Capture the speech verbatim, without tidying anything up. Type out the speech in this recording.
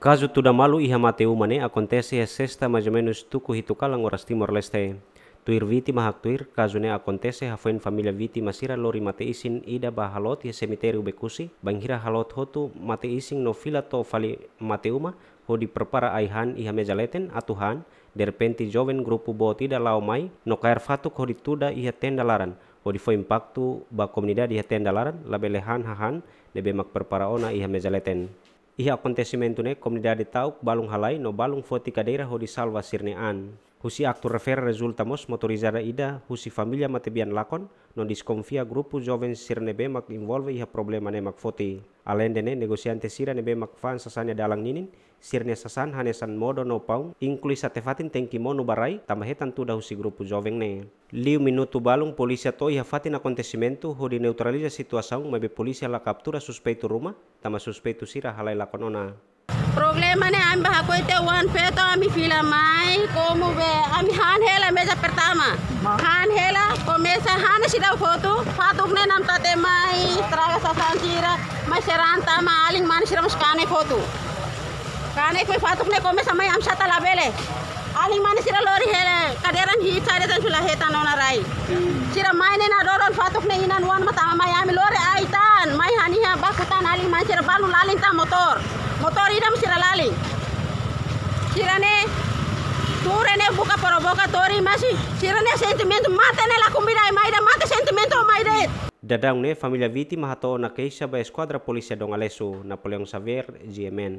Kazu tuda malu iha mate uma ne'e akontese iha sesta mais ou menus tuku hitu kalan oras Timor-Leste. Tuir vítima haktuir, kazu ne'e akontese hafoin família vítima sira lori mate-isin ida ba haloot iha semitériu Bekusi, bainhira haloot hotu mate-isin no fila to'o fali mate uma, hodi prepara ai-han iha meza leten atu han, derrepente joven grupu boot ida la'o mai no kaer fatuk hodi tuda iha tenda laran, hodi fó impaktu ba komunidade iha tenda laran, labele han hahán ne'ebé mak prepara ona iha meza leten. Iha akontesimentu ne'e komunidade ta'uk balun halai no balun foti kadeira hodi salva sira-nia an. Husi aktu refere rezulta mós motorizada ida husi família matebian lakon no deskonfia grupu joven sira ne'ebé mak envolve iha problema ne'e mak foti. Aleinde ne'e negosiante sira ne'ebé mak fa'an sasán iha dalan ninin, sira-nia sasán hanesan modo no paun, inklui sá te fatin tenke monu ba rai, tanba hetan tuda husi grupu joven ne'e. Liu minutu balun polísia to'o iha fatin akontesimentu hodi neutraliza situasaun maibé polísia la kaptura suspeitu ruma, tanba suspeitu sira halai lakon ona. Problema ne'e ami bá hakoi tiha oan feto ami fila mai, komu be ami han hela meza pertama. Han hela, komesa han seidauk hotu, fatuk ne'e namtate mai, estraga sasán sira, mai sira han tama, alin mane sira mós kanek hotu. Kanek mai fatuk ne'e komesa mai ami sá ta labele. Alin mane sira lori hela, kadeira hiit sai de'it tan sula hetan ona rai. Sira mai ne'e nadoron fatuk ne'e inan-oan mak tama mai ami lori ai tan, mai han iha baku tan alin mane sira balun lalin tan motór. Motór ida mak sira lalin. Sira ne'e, tuur ne'e buka provokatóriu masi. Sira ne'e sentimentu mate ne'e la kumbida mai de'it, mate sentimentu mai de'it. Daudaun ne'e família vítima hato'o ona keixa ba Eskuadra Polísia Dom Aleixo, Napoleão Xavier, G M N.